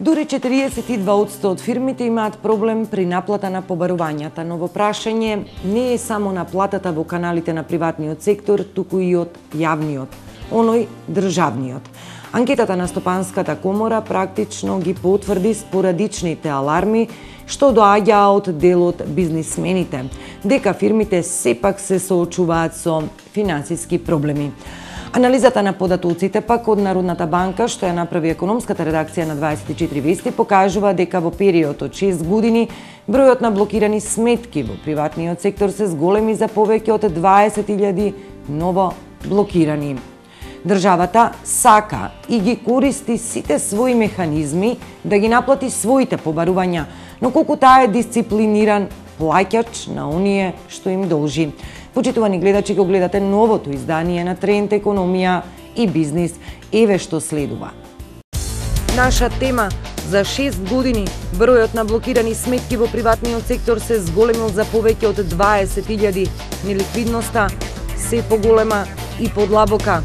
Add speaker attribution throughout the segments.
Speaker 1: Дури 42% од фирмите имаат проблем при наплата на побарувањата, но во прашање не е само наплатата во каналите на приватниот сектор, туку и од јавниот, оној државниот. Анкетата на Стопанската комора практично ги потврди спорадичните аларми што доаѓаа од дел од бизнисмените, дека фирмите сепак се соочуваат со финансиски проблеми. Анализата на податоците пак од Народната банка, што ја направи економската редакција на 24 вести, покажува дека во период од 6 години бројот на блокирани сметки во приватниот сектор се зголеми за повеќе од 20.000 ново блокирани. Државата сака и ги користи сите своји механизми да ги наплати своите побарувања, но колку таа е дисциплиниран плаќач на оние што им должи. Почитувани гледачи, го гледате новото издание на Тренд економија и бизнис. Еве што следува. Наша тема: за 6 години бројот на блокирани сметки во приватниот сектор се зголемил за повеќе од 20.000. Неликвидноста се поголема и подлабока.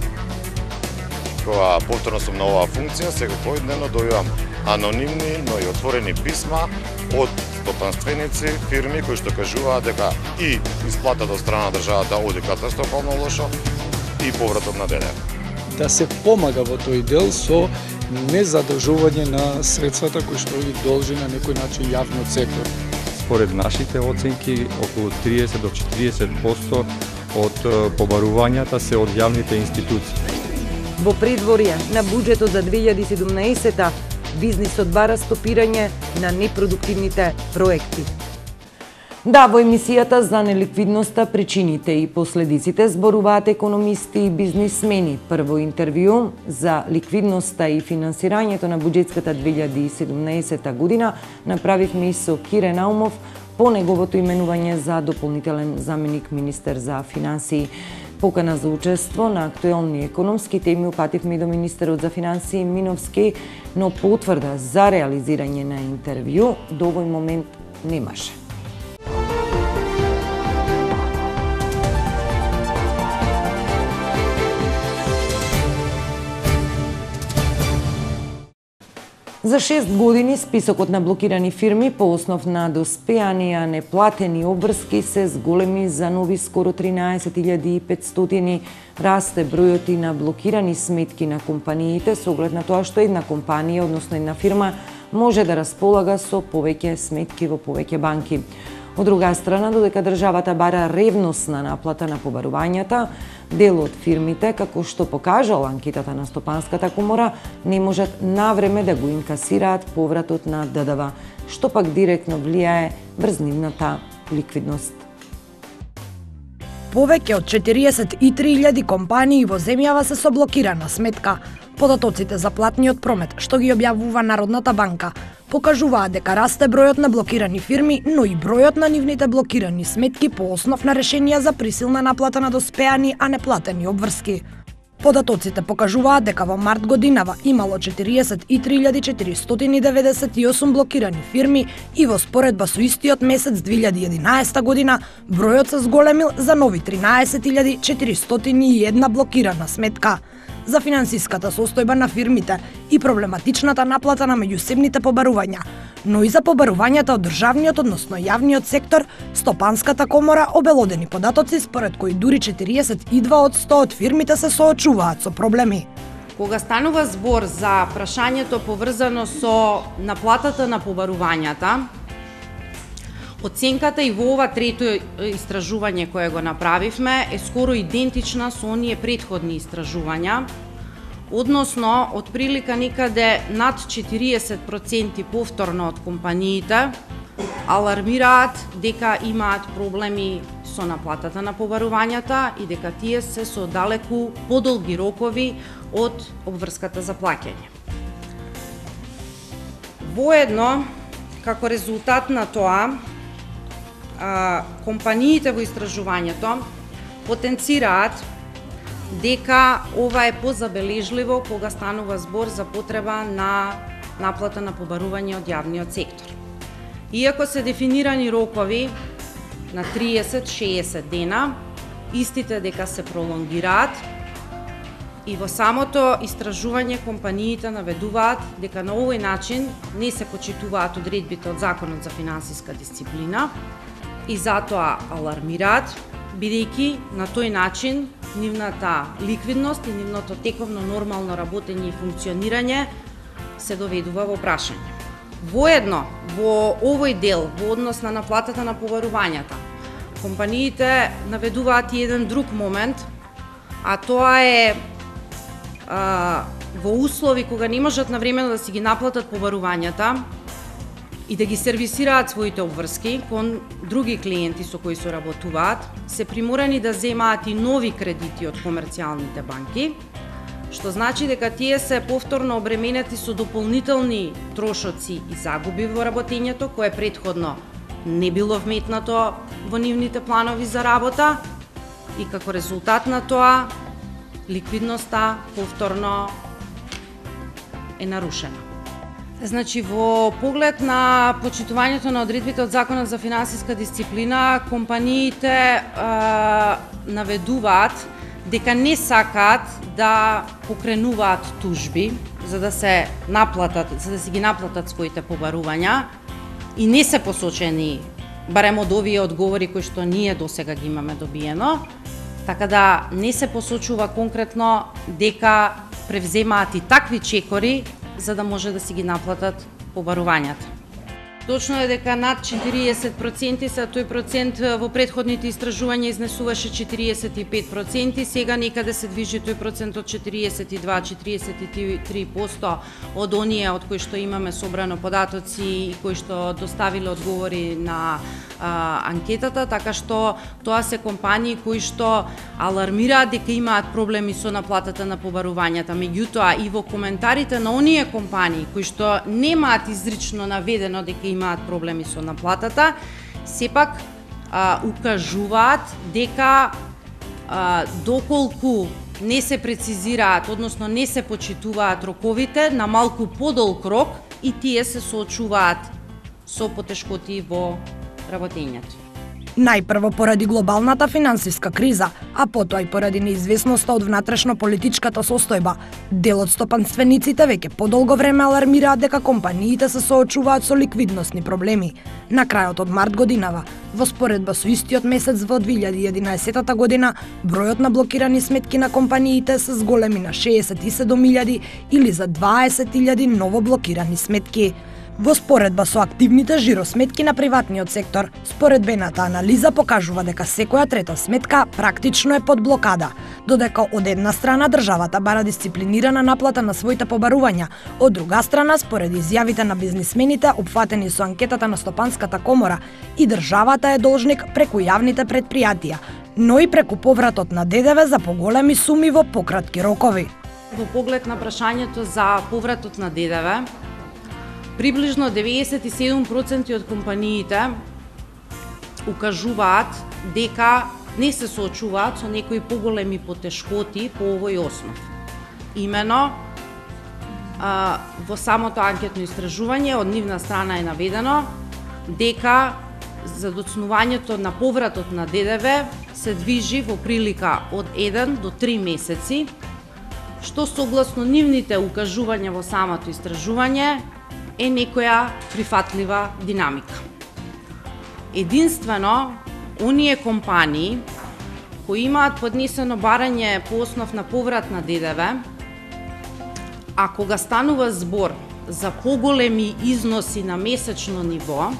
Speaker 2: Кога повторно сум на оваа функција, секој дневно дојувам анонимни, но и отворени писма од стопанственици, фирми кои што кажуваат дека и исплатата од страна на државата оди катастрофално лошо и повратот на ДДВ.
Speaker 3: Да се помага во тој дел со незадржување на средствата кои што ги должи на некој начин јавниот сектор.
Speaker 4: Според нашите оценки, околу 30 до 40% од побарувањата се од јавните институции.
Speaker 1: Во предворје на буџетот за 2017 бизнисот бара стопирање на непродуктивните проекти. Да, во емисијата за неликвидноста, причините и последиците зборуваат економисти и бизнисмени. Прво интервју за ликвидноста и финансирањето на буџетската 2017 година направивме и со Кире Наумов по неговото именување за дополнителен заменик министер за финансии. Покана за учество на актуелни економски теми упативме и до министерот за финансии Миновски, но потврда за реализирање на интервју до овој момент немаше. За 6 години списокот на блокирани фирми по основ на доспеани, а неплатени обврски се зголеми за нови скоро 13.500. Расте бројот и на блокирани сметки на компаниите со оглед на тоа што една компанија, односно една фирма, може да располага со повеќе сметки во повеќе банки. Од друга страна, додека државата бара ревносна наплата на побарувањата, дел од фирмите, како што покажала анкетата на Стопанската комора, не можат навреме да го инкасираат повратот на ДДВ, што пак директно влијае врз нивната ликвидност.
Speaker 5: Повеќе од 43.000 компании во земјава се со блокирана сметка. Податоците за платниот промет, што ги објавува Народната банка, покажуваат дека расте бројот на блокирани фирми, но и бројот на нивните блокирани сметки по основ на решенија за присилна наплата на доспеани, а неплатени обврски. Податоците покажуваат дека во март годинава имало 43.498 блокирани фирми и во споредба со истиот месец 2011 година бројот се зголемил за нови 13.401 блокирана сметка. За финансиската состојба на фирмите и проблематичната наплата на меѓусебните побарувања, но и за побарувањата од државниот, односно јавниот сектор, Стопанската комора обелодени податоци според кои дури 42% од фирмите се соочуваат со проблеми.
Speaker 6: Кога станува збор за прашањето поврзано со наплатата на побарувањата, оценката и во ова трето истражување кое го направивме е скоро идентична со оние претходни истражувања, односно од прилика никаде над 40% повторно од компаниите алармираат дека имаат проблеми со наплатата на побарувањата и дека тие се со далеку подолги рокови од обврската за плаќање. Воедно, како резултат на тоа, компаниите во истражувањето потенцираат дека ова е позабележливо кога станува збор за потреба на наплата на побарување од јавниот сектор. Иако се дефинирани рокови на 30-60 дена, истите дека се пролонгираат, И во самото истражување компаниите наведуваат дека на овој начин не се почитуваат одредбите од Законот за финансиска дисциплина и затоа алармираат, бидејќи на тој начин нивната ликвидност и нивното тековно нормално работење и функционирање се доведува во прашање. Воедно, во овој дел, во однос на наплатата на побарувањата, компаниите наведуваат и еден друг момент, а тоа е во услови кога не можат навремено да си ги наплатат побарувањата и да ги сервисираат своите обврски кон други клиенти со кои соработуваат, се приморани да земаат и нови кредити од комерцијалните банки, што значи дека тие се повторно обременети со дополнителни трошоци и загуби во работењето, кое претходно не било вметнато во нивните планови за работа и како резултат на тоа ликвидноста повторно е нарушена. Значи, во поглед на почитувањето на одредбите од Законот за финансиска дисциплина, компаниите наведуваат дека не сакаат да покренуваат тужби за да се наплатат, за да си ги наплатат своите побарувања и не се посочени барем од овие одговори кои што ние досега ги имаме добиено, така да не се посочува конкретно дека превземаат и такви чекори за да може да си ги наплатат побарувањата. Точно е дека над 40% се, тој процент во претходните истражувања изнесуваше 45%, сега некаде се движи тој процент од 42-43% од оние од кои што имаме собрано податоци и кои што доставиле одговори на анкетата, така што тоа се компании кои што алармираат дека имаат проблеми со наплатата на побарувањата. Меѓутоа и во коментарите на оние компании кои што немаат изрично наведено дека имаат проблеми со наплатата, сепак укажуваат дека доколку не се прецизираат, односно не се почитуваат роковите, на малку подолг рок и тие се соочуваат со потешкоти во работењето.
Speaker 5: Најпрво поради глобалната финансиска криза, а потоа и поради неизвестноста од внатрешно-политичката состојба, дел од стопанствениците веќе подолго време алармираат дека компаниите се соочуваат со ликвидносни проблеми. На крајот од март годинава, во споредба со истиот месец во 2011 година, бројот на блокирани сметки на компаниите се зголеми на 67.000 или за 20.000 ново блокирани сметки. Во споредба со активните жиросметки на приватниот сектор, споредбената анализа покажува дека секоја трета сметка практично е под блокада, додека од една страна државата бара дисциплинирана наплата на своите побарувања, од друга страна, според изјавите на бизнисмените опфатени со анкетата на Стопанската комора, и државата е должник преку јавните предпријатија, но и преку повратот на ДДВ за поголеми суми во пократки рокови.
Speaker 6: Во поглед на прашањето за повратот на ДДВ, приближно 97% од компаниите укажуваат дека не се соочуваат со некои поголеми потешкоти по овој основ. Имено, во самото анкетно истражување од нивна страна е наведено дека за доцнувањето на повратот на ДДВ се движи во прилика од 1 до 3 месеци, што согласно нивните укажувања во самото истражување е некоја прифатлива динамика. Единствено, оние компании кои имаат поднесено барање по основ на поврат на ДДВ, а кога станува збор за поголеми износи на месечно ниво,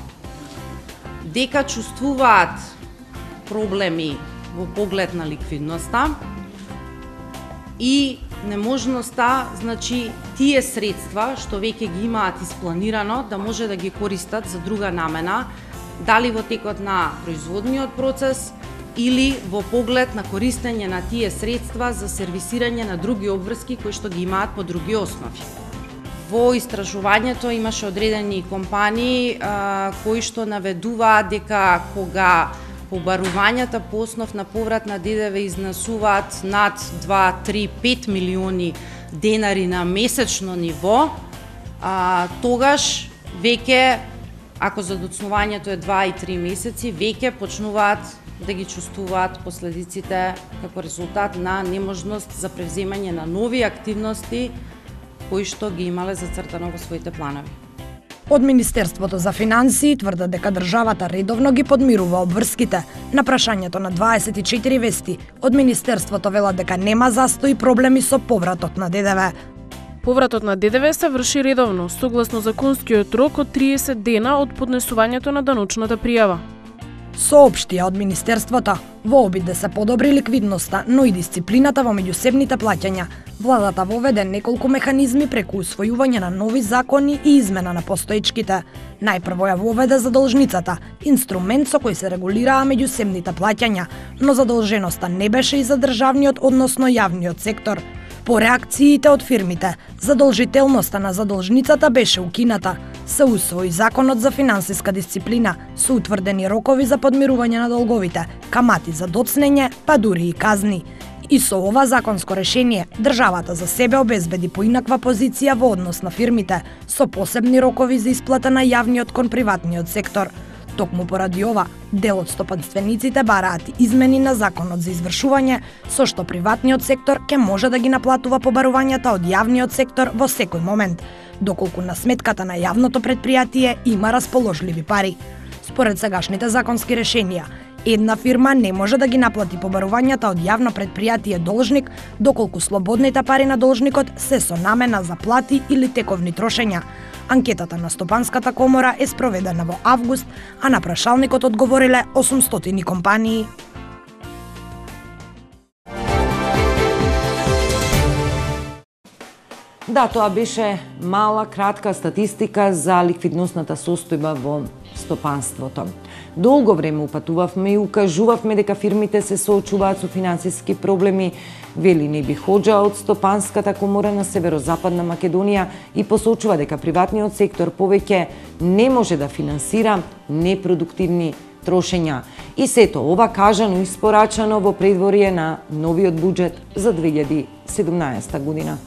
Speaker 6: дека чувствуваат проблеми во поглед на ликвидноста и неможноста, значи, тие средства што веќе ги имаат испланирано да може да ги користат за друга намена, дали во текот на производниот процес или во поглед на користење на тие средства за сервисирање на други обврски кои што ги имаат по други основи. Во истражувањето имаше одредени компании кои што наведуваат дека кога побарувањата по основ на поврат на ДДВ изнесуваат над 2, 3, 5 милиони денари на месечно ниво, тогаш веќе ако задоцнувањето е 2 и 3 месеци, веќе почнуваат да ги чувствуваат последиците како резултат на неможност за превземање на нови активности кои што ги имале зацртано во своите планови.
Speaker 5: Од Министерството за финансии тврдат дека државата редовно ги подмирува обврските. На прашањето на 24 вести, од Министерството велат дека нема застои проблеми со повратот на ДДВ.
Speaker 7: Повратот на ДДВ се врши редовно, согласно законскиот рок од 30 дена од поднесувањето на даночната пријава.
Speaker 5: Соопштија од Министерството, во обид да се подобри ликвидноста, но и дисциплината во меѓусебните плаќања, владата воведе неколку механизми преку усвојување на нови закони и измена на постоечките. Најпрво ја воведе задолжницата, инструмент со кој се регулираа меѓусебните плаќања, но задолженоста не беше и за државниот, односно јавниот сектор. По реакциите од фирмите, задолжителноста на задолжницата беше укината. Се усвои законот за финансиска дисциплина, со утврдени рокови за подмирување на долговите, камати за доцнење, па дури и казни. И со ова законско решение, државата за себе обезбеди поинаква позиција во однос на фирмите, со посебни рокови за исплата на јавниот кон приватниот сектор. Токму поради ова, дел од стопанствениците бараат измени на законот за извршување, со што приватниот сектор ќе може да ги наплатува побарувањата од јавниот сектор во секој момент, доколку на сметката на јавното предпријатие има расположливи пари. Според сегашните законски решенија, една фирма не може да ги наплати побарувањата од јавно предпријатие должник, доколку слободните пари на должникот се со намена за плати или тековни трошења. Анкетата на Стопанската комора е спроведена во август, а на прашалникот одговориле 800 компании.
Speaker 1: Да, тоа беше мала, кратка статистика за ликвидносната состојба во стопанството. Долго време упатувавме и укажувавме дека фирмите се соочуваат со финансиски проблеми, вели Неби Хоџа од Стопанската комора на Северозападна Македонија и посочува дека приватниот сектор повеќе не може да финансира непродуктивни трошења. И сето ова кажано и испорачано во предворие на новиот буџет за 2017 година.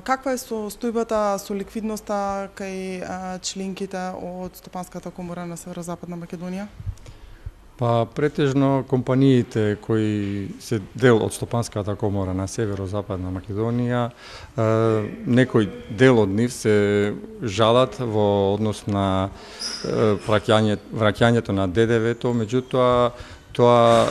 Speaker 8: Каква е состојбата со ликвидноста кај членките од Стопанската комора на Северозападна Македонија?
Speaker 4: Па претежно компаниите кои се дел од Стопанската комора на Северозападна Македонија, некој дел од нив се жалат во однос на враќањето на ДДВ-то, меѓутоа тоа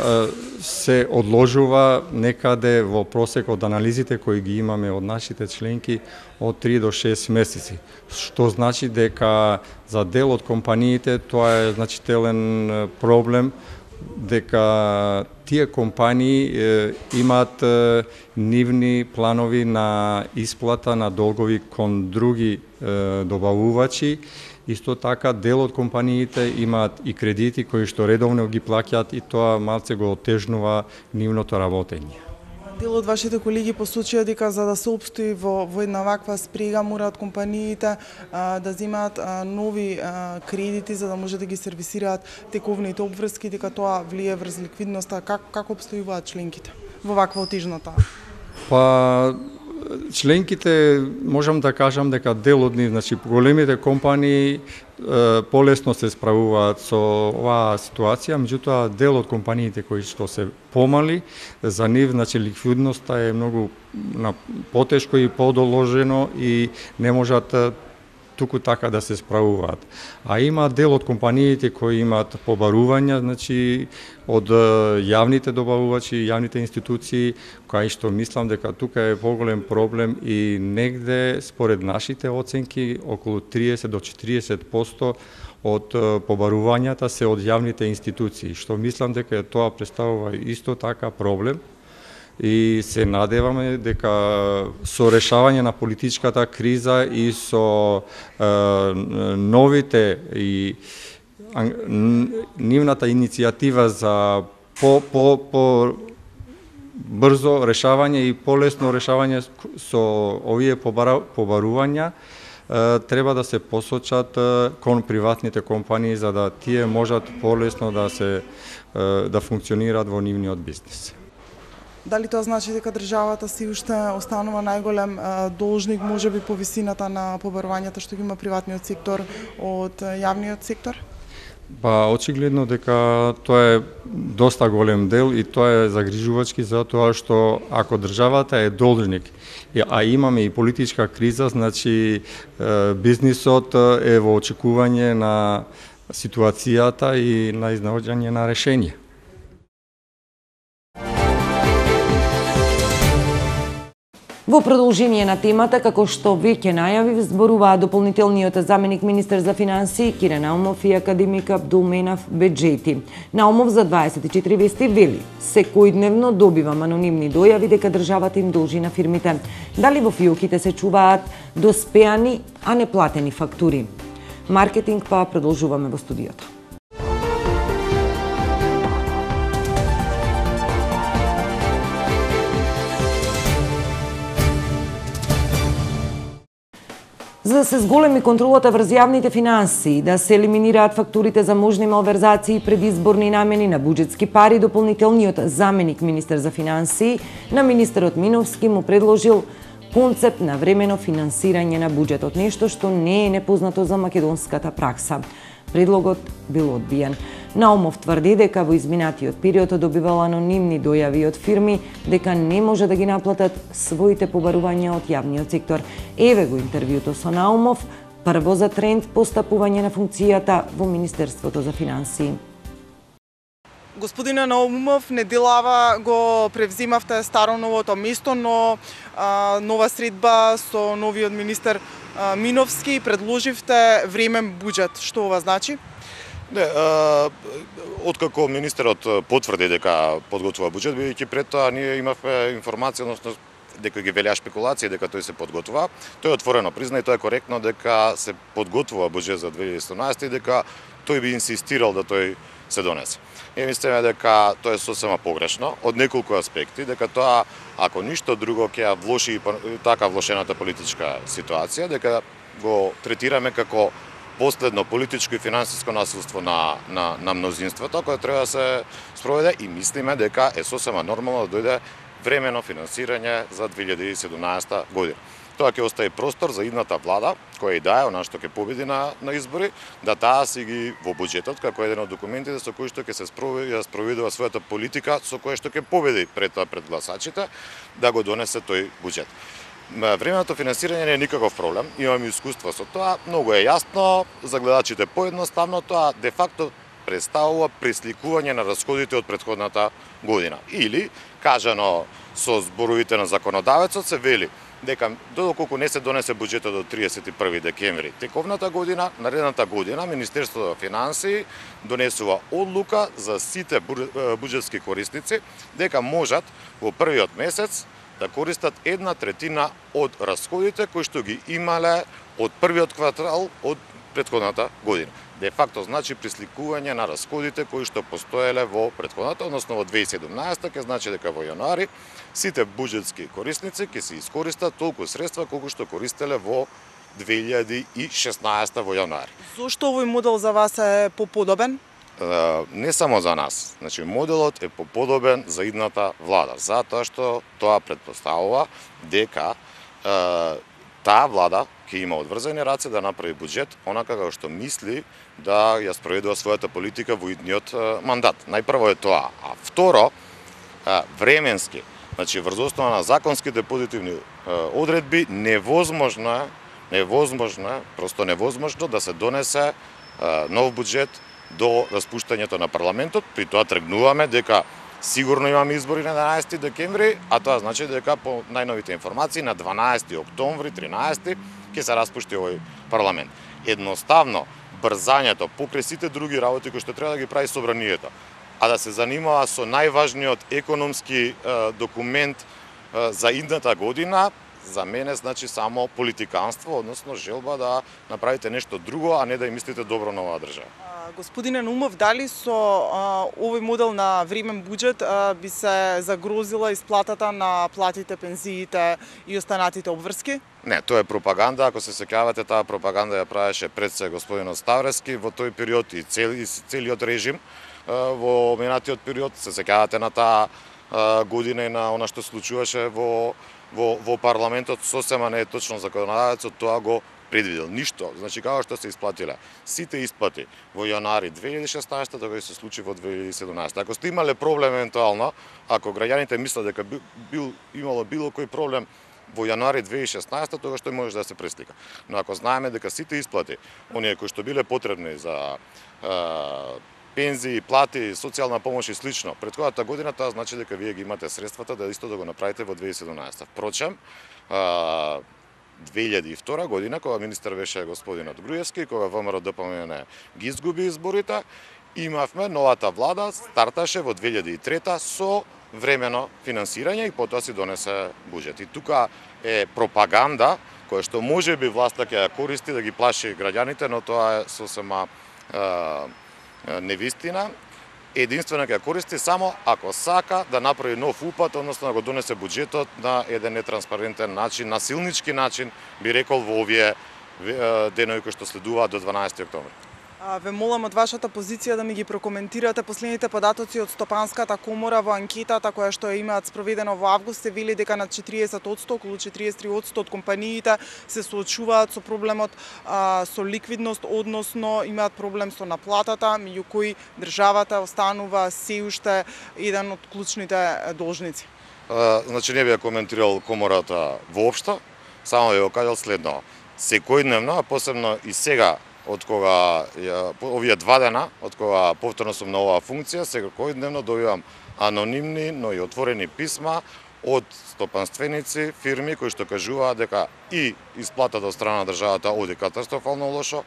Speaker 4: се одложува некаде во просек од анализите кои ги имаме од нашите членки од 3 до 6 месеци. Што значи дека за дел од компаниите тоа е значителен проблем, дека тие компании имаат нивни планови на исплата на долгови кон други добавувачи. Исто така, дел од компаниите имаат и кредити кои што редовно ги плаќаат и тоа малце го отежнува нивното работење.
Speaker 8: Дел од вашите колеги посочија дека за да се опстои во една ваква спрега мораат компаниите да земаат нови кредити за да може да ги сервисираат тековните обврски, дека тоа влие врз ликвидноста. Како обстојуваат членките во ваква отежната?
Speaker 4: Па членките, можам да кажам дека дел од нив, значи големите компании полесно се справуваат со оваа ситуација, меѓутоа дел од компаниите кои што се помали, за нив значи ликвидноста е многу потешко и подоложено и не можат туку така да се справуваат. А има дел од компаниите кои имаат побарувања, значи од јавните добавувачи, јавните институции, кај што мислам дека тука е поголем проблем и негде според нашите оценки околу 30 до 40% од побарувањата се од јавните институции, што мислам дека тоа представува исто така проблем. И се надеваме дека со решавање на политичката криза и со новите и нивната иницијатива за брзо решавање и полесно решавање со овие побарувања треба да се посочат кон приватните компании за да тие можат полесно да функционираат во нивниот бизнис.
Speaker 8: Дали тоа значи дека државата си уште останува најголем должник, можеби по висината на побарувањата што ги има приватниот сектор од јавниот сектор?
Speaker 4: Па очигледно дека тоа е доста голем дел и тоа е загрижувачки затоа што ако државата е должник, а имаме и политичка криза, значи бизнисот е во очекување на ситуацијата и на изнаоѓање на решение.
Speaker 1: Во продолжение на темата, како што веќе најавив, зборуваа дополнителниот заменик министер за финансии Кире Наумов и академик Абдулменав Беџети. Наумов за 24 вести вели: секојдневно добивам анонимни дојави дека државата им должи на фирмите. Дали во фиоките се чуваат доспеани, а неплатени фактури? Маркетинг па продолжуваме во студиото. За да се зголеми контролата врз јавните финансии, да се елиминираат фактурите за можни малверзации и предизборни намени на буџетски пари, дополнителниот заменик министер за финансии на министерот Миновски му предложил концепт на времено финансирање на буџетот, нешто што не е непознато за македонската пракса. Предлогот бил одбиен. Наумов тврди дека во изминатиот период добивал анонимни дојави од фирми дека не може да ги наплатат своите побарувања од јавниот сектор. Еве го интервјуто со Наумов, прво за тренд постапување на функцијата во Министерството за финансии.
Speaker 8: Господине Наумов, неделава го превзимавте старо-новото место, но нова средба со новиот министер Миновски предложивте времен буџет. Што ова значи?
Speaker 2: Не, откако министерот потврди дека подготвува буџет, бидејќи пред тоа ние имавме информација, односно дека ги велеа спекулации дека тој се подготвува. Тој отворено призна и тоа е коректно дека се подготвува буџет за 2017 и дека тој би инсистирал да тој се донесе. И мислиме дека тоа е сосема погрешно од неколку аспекти, дека тоа ако ништо друго ќе ја влоши така влошената политичка ситуација, дека го третираме како последно политичко и финансиско насилство на мнозинството кој треба да се спроведе и мислиме дека е сосема нормално да дојде времено финансирање за 2017 година. Тоа ќе остави простор за идната влада, која и да е, она што ќе победи на избори, да таа си ги во буџетот, како еден од документите со кои што ќе се спроведува својата политика, со која што ќе победи пред гласачите, да го донесе тој буџет. Временото финансирање не е никаков проблем, имаме искуство со тоа, многу е јасно, за гледачите поедноставно, тоа де факто представува пресликување на расходите од претходната година. Или, кажано со зборовите на законодавецот, се вели дека доколку не се донесе буџетот до 31 декември тековната година, наредната година Министерството за финансии донесува одлука за сите буџетски корисници дека можат во првиот месец да користат 1/3 од расходите кои што ги имале од првиот квартал од претходната година. Де факто значи присликување на расходите кои што постоеле во претходната, односно во 2017, ќе значи дека во јануари сите буџетски корисници ќе се искористат толку средства колку што користеле во 2016 во јануари.
Speaker 8: Зошто овој модел за вас е поподобен?
Speaker 2: Не само за нас. Значи моделот е поподобен за идната влада, затоа што тоа претпоставува дека таа влада ќе има одврзани раце да направи буџет онака како што мисли да ја спроведува својата политика во идниот мандат. Најпрво е тоа, а второ, временски, значи врз основа на законските позитивни одредби невозможно е, просто невозможно да се донесе нов буџет до распуштањето на парламентот. При тоа тргнуваме дека сигурно имаме избори на 11 декември, а тоа значи дека по најновите информации на 12 октомври, 13 ќе се распушти овој парламент. Едноставно, брзањето покрај сите други работи кои што треба да ги прави собранието, а да се занимава со најважниот економски документ за идната година, за мене значи само политиканство, односно желба да направите нешто друго, а не да ја мислите добро на оваа држава.
Speaker 8: Господине Наумов, дали со овој модел на времен буџет би се загрозила исплатата на платите, пензиите и останатите обврски?
Speaker 2: Не, тоа е пропаганда. Ако се сеќавате, таа пропаганда ја правеше пред се господинот Ставрески во тој период и целиот режим во минатиот период. Се сеќавате на таа година и на она што случуваше во парламентот, сосема не е точно законодавецот тоа го предвидел. Ништо. Значи, како што се исплатиле сите исплати во јануари 2016, тоа се случи во 2017. Ако сте имале проблем евентуално, ако граѓаните мислат дека имало било кој проблем во јануари 2016, тогаш тој може да се преслика. Но ако знаеме дека сите исплати, оние кои што биле потребни за пензии, плати, социјална помош и слично, претходната година, тоа значи дека вие ги имате средствата да исто да го направите во 2017. Впрочем, 2002 година, кога министер беше господинот Груевски, кога ВМРО ДПМН ги изгуби изборите, имавме новата влада, старташе во 2003 со времено финансирање и потоа си донесе буџет. И тука е пропаганда која што може би власта ќе ја користи да ги плаши граѓаните, но тоа е сосема невистина. Единствено ќе ја користи само ако сака да направи нов упат, односно да го донесе буџетот на еден нетранспарентен начин, насилнички начин, би рекол во овие денови кои што следуваат до 12 октомври.
Speaker 8: Ве молам од вашата позиција да ми ги прокоментирате последните податоци од Стопанската комора во анкетата која што имаат спроведено во август, се вели дека над 40%, околу 43% од компаниите се соочуваат со проблемот со ликвидност, односно имаат проблем со наплатата, меѓу кои државата останува се уште еден од клучните должници.
Speaker 2: Значи не би ја коментирал комората воопшто, само би го кажал следно. Секојдневно, а посебно и сега, од кога овие 2 дена, од кога повторно сум на оваа функција, секојдневно добивам анонимни, но и отворени писма од стопанственици, фирми кои што кажуваат дека и исплатата од страна на државата оди катастрофално лошо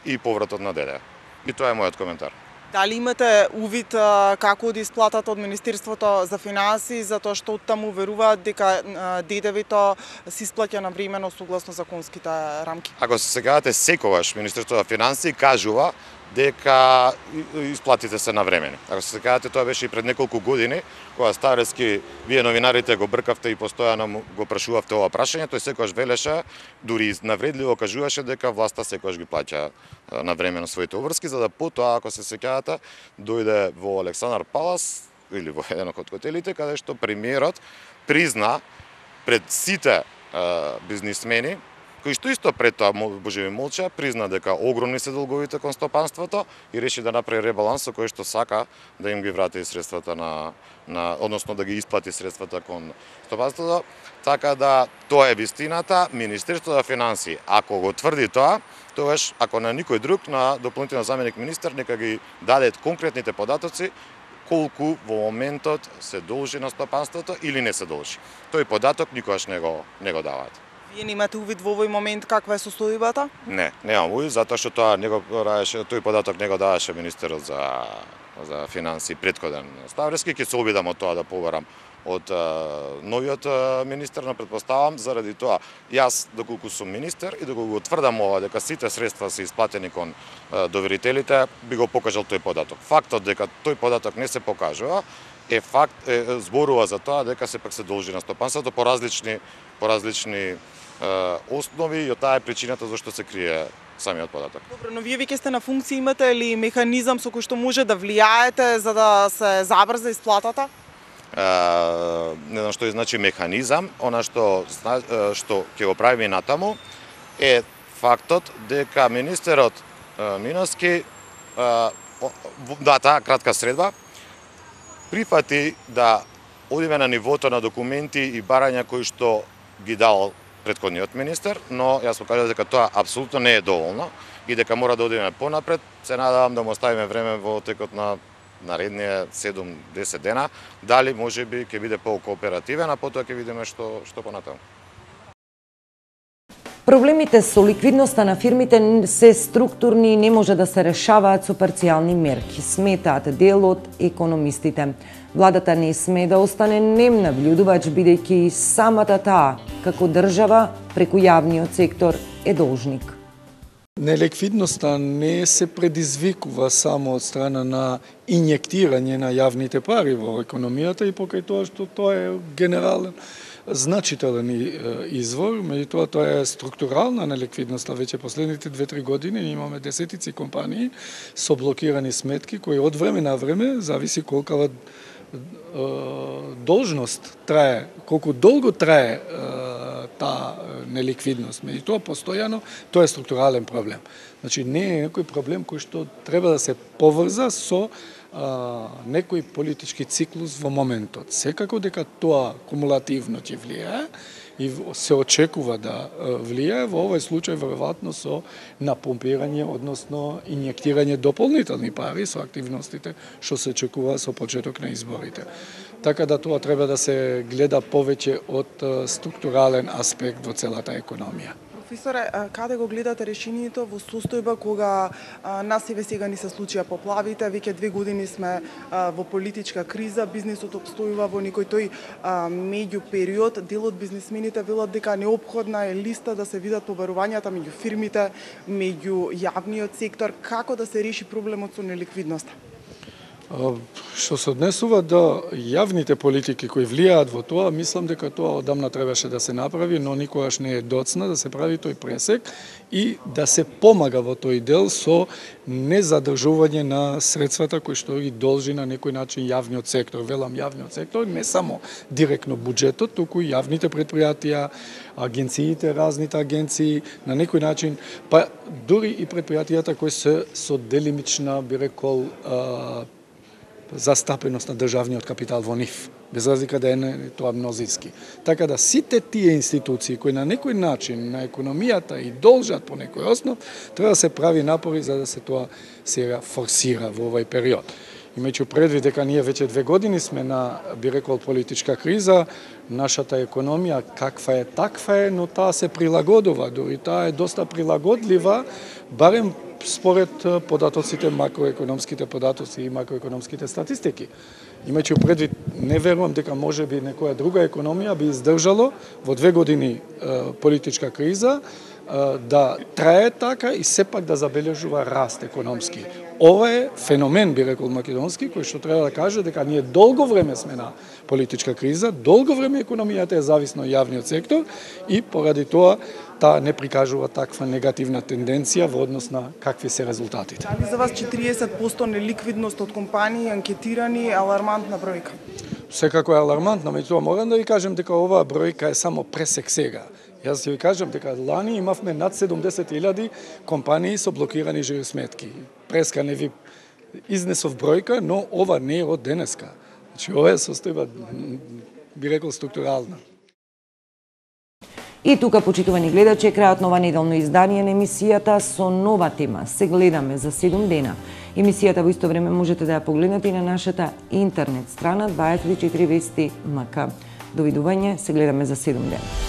Speaker 2: и повратот на ДДЕ. И тоа е мојот коментар.
Speaker 8: Дали имате увид како оди исплатата од Министерството за финансии, затоа што оттаму веруваат дека ДДВ-то се исплаќа навремено согласно законските рамки?
Speaker 2: Ако се сеќавате, секогаш Министерството за финансии кажува дека исплатите се навремени. Ако се сеќавате, тоа беше и пред неколку години, кога Ставрески, вие новинарите го бркавте и постојано го прашувавте ова прашање, тој секогаш велеше, дури навредливо кажуваше дека власта секогаш ги плаќа навремено своите обврски, за да потоа, ако се сеќавате, дојде во Александар Палас или во еден од хотелите, каде што премиерот призна пред сите бизнисмени, кои што исто пред тоа божеви молча, призна дека огромни се долговите кон стопанството и реши да направи ребаланс со кој што сака да им ги врати средствата односно да ги исплати средствата кон стопанството. Така да тоа е вистината. Министерството за финансии, ако го тврди тоа, тогаш ако на никој друг, на дополнителен заменик министер, нека ги даде конкретните податоци колку во моментот се должи на стопанството или не се должи. Тој податок никогаш не го даваат.
Speaker 8: Вие немате увид во овој момент каква е состојбата?
Speaker 2: Не, немам увид, затоа што тој податок не го даваше министерот за финансии претходен Ставрески. Ќе се обидам од тоа да побарам од новиот министер, но претпоставам заради тоа јас доколку сум министер и доколку го тврдам ова дека сите средства се исплатени кон доверителите, би го покажал тој податок. Фактот дека тој податок не се покажува зборува за тоа дека сепак се должи на стопанството по различни основи и таа е причината зашто се крие самиот податок.
Speaker 8: Добро, но вие веќе сте на функција, имате ли механизам со кој што може да влијаете за да се забрза исплатата?
Speaker 2: Не знам што значи механизам, она што ќе го правиме натаму е фактот дека министерот Миновски таа кратка средба прифати да одиме на нивото на документи и барања кои што ги дал претходниот министер, но јас покажав дека тоа апсолутно не е доволно и дека мора да одиме понапред. Се надевам да му оставиме време во текот на наредние 7-10 дена, дали можеби ќе биде по-кооперативен, а потоа ќе видиме што понатаму.
Speaker 1: Проблемите со ликвидноста на фирмите се структурни и не може да се решаваат со парцијални мерки, сметаат дел од економистите. Владата не сме да остане нем набљудувач, бидејќи самата таа, како држава, преку јавниот сектор, е должник.
Speaker 3: Неликвидноста не се предизвикува само од страна на инјектирање на јавните пари во економијата и покај тоа што тоа е генерален значителен извор, меѓутоа тоа е структурална неликвидноста. Веќе последните 2-3 години имаме десетици компании со блокирани сметки кои од време на време, зависи колкава должност трае, колку долго трае таа неликвидност, меѓутоа постојано тоа е структурален проблем. Значи не е некој проблем кој што треба да се поврза со некој политички циклус во моментот. Секако дека тоа кумулативно ќе влијае и се очекува да влијае, во овој случај веројатно со напомпирање, односно инјектирање дополнителни пари со активностите што се очекува со почеток на изборите. Така да тоа треба да се гледа повеќе од структурален аспект во целата економија.
Speaker 8: Професоре, каде го гледате решението во состојба кога нас еве сега ни се случија поплавите, веќе 2 години сме во политичка криза, бизнисот обстојува во некој тој меѓу период, дел од бизнисмените велат дека неопходна е листа да се видат побарувањата меѓу фирмите, меѓу јавниот сектор, како да се реши проблемот со неликвидноста?
Speaker 3: Што се однесува до јавните политики кои влијаат во тоа, мислам дека тоа одамна требаше да се направи, но никогаш не е доцна да се прави тој пресек и да се помага во тој дел со незадржување на средствата кои што ги должи на некој начин јавниот сектор. Велам јавниот сектор, не само директно буџетот, туку и јавните предпријатија, агенциите, разните агенции, на некој начин, па дури и предпријатијата кои се со делимична, би рекол, застапеност на државниот капитал во нив, без разлика да е тоа мнозински. Така да сите тие институции кои на некој начин на економијата и должат по некој основ, треба да се прави напори за да се тоа сега форсира во овој период. Имајќи предвид дека ние веќе 2 години сме на, би рекол, политичка криза, нашата економија каква е, но таа се прилагодува, дури таа е доста прилагодлива, барем според податоците, макроекономските податоци и макроекономските статистики. Имајќи предвид, не верувам дека може би некоја друга економија би издржало во 2 години политичка криза да трае така и сепак да забележува раст економски. Ова е феномен, би рекол македонски, кој што треба да каже дека ние долго време сме на политичка криза, долго време економијата е зависна од јавниот сектор и поради тоа таа не прикажува таква негативна тенденција во однос на какви се резултатите.
Speaker 8: Дали за вас 40% неликвидност од компании анкетирани е алармантна бројка?
Speaker 3: Секако е алармантна, меѓутоа морам да ви кажем дека оваа бројка е само пресек сега. Јас ќе ви кажам дека лани имавме над 70.000 компании со блокирани жиросметки. Преска не ви изнесов бројка, но ова не е од денеска. Значи ова е состојба, би рекол, структурална.
Speaker 1: И тука, почитувани гледачи, е крајот на ова неделно издание на емисијата со нова тема. Се гледаме за 7 дена. Емисијата во исто време можете да ја погледнете и на нашата интернет страна 24vesti.mk. Довидување, се гледаме за 7 дена.